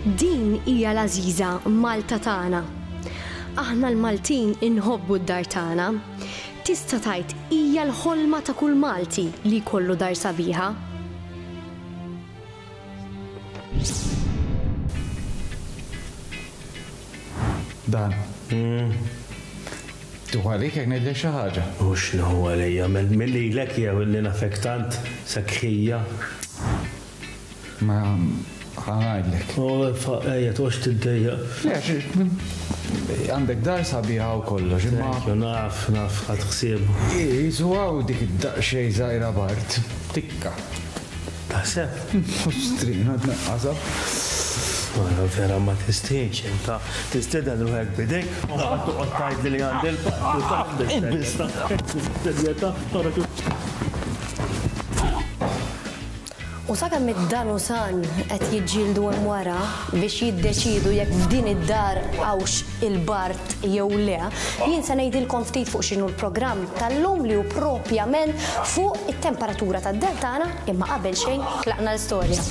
Din hija l-għażiża Malta tagħna. Aħna l-Maltin inħobbu d-dar tagħna. Tista' tgħid hija l-ħolma ta' kull Malti li jkollu dar sabiħa. Dan. Tieħu għalik jekk ngħidlek xi ħaġa? Mhux nieħu għalija, mill-lilek jew illi nafek tant sekħija. Ma ħa ngħidlek. U ejja toqgħodx tiddejjaq. Le għax għandek dar sabiħa u kollox imma. Thank you, naf, naf, ħadt ħsiebu. Qisu hawn dik id-daqsxejn żgħira b'art. Tikka. Taħseb? Strina tnaqqasha. Mara vera ma tistħix inta. Tistieden ruħek b'idejk u mbagħad toqgħod tgħidli li għandi l-patt u taf bis-serjetà, bis-serjetà, ara kif. U sakemm id-Dan u San qed jiġġieldu hemm wara biex jiddeċiedu jekk f'din id-dar hawnx il-bard jew le, jien se ngħidilkom ftit fuq x'inhu l-programm tal-lum li hu propjament fuq it-temperatura tad-dar tagħna imma qabel xejn tlaqna l-istorja.